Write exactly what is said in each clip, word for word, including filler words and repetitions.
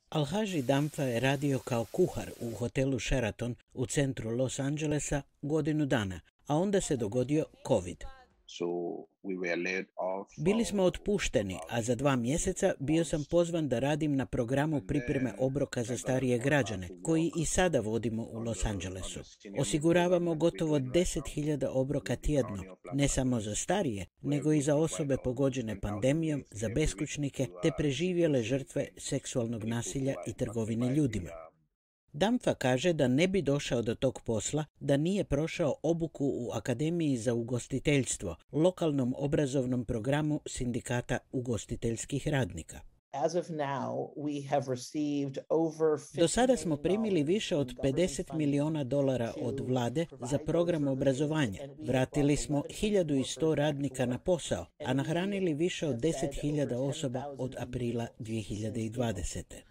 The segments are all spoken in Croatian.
Alhaji Damfa je radio kao kuhar u hotelu Sheraton u centru Los Angelesa godinu dana, a onda se dogodio COVID. So we were laid off. Bili smo otpušteni, a za dva mjeseca bio sam pozvan da radim na programu pripreme obroka za starije građane, koji i sada vodimo u Los Angelesu. Osiguravamo gotovo deset hiljada obroka tjedno, ne samo za starije, nego i za osobe pogođene pandemijom, za beskućnike te preživjele žrtve seksualnog nasilja i trgovine ljudima. Damfa kaže da ne bi došao do tog posla da nije prošao obuku u Akademiji za ugostiteljstvo, lokalnom obrazovnom programu sindikata ugostiteljskih radnika. As of now, we have received over Do sada smo primili više od pedeset milijuna dolara od vlade za program obrazovanja. Vratili smo hiljadu sto radnika na posao, a nahranili više od deset hiljada osoba od aprila dvije hiljade dvadesete.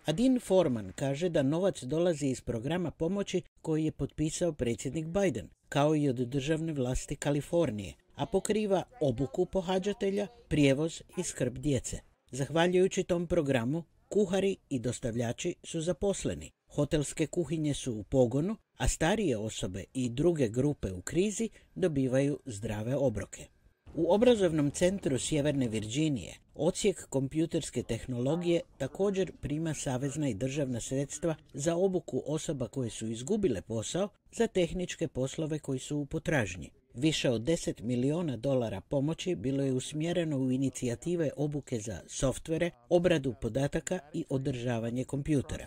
Adin Foreman kaže da novac dolazi iz programa pomoći koji je potpisao predsjednik Biden, kao i od državne vlasti Kalifornije, a pokriva obuku pohađatelja, prijevoz i skrb djece. Zahvaljujući tom programu, kuhari i dostavljači su zaposleni, hotelske kuhinje su u pogonu, a starije osobe i druge grupe u krizi dobivaju zdrave obroke. U obrazovnom centru Sjeverne Virginije odsjek kompjuterske tehnologije također prima savezna i državna sredstva za obuku osoba koje su izgubile posao za tehničke poslove koji su u potražnji. Više od deset milijuna dolara pomoći bilo je usmjereno u inicijative obuke za softvere, obradu podataka i održavanje kompjutera.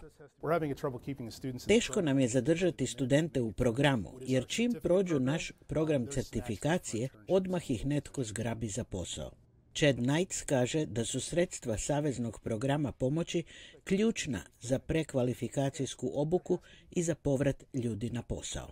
Teško nam je zadržati studente u programu, jer čim prođu naš program certifikacije, odmah ih netko zgrabi za posao. Chad Knights kaže da su sredstva saveznog programa pomoći ključna za prekvalifikacijsku obuku i za povrat ljudi na posao.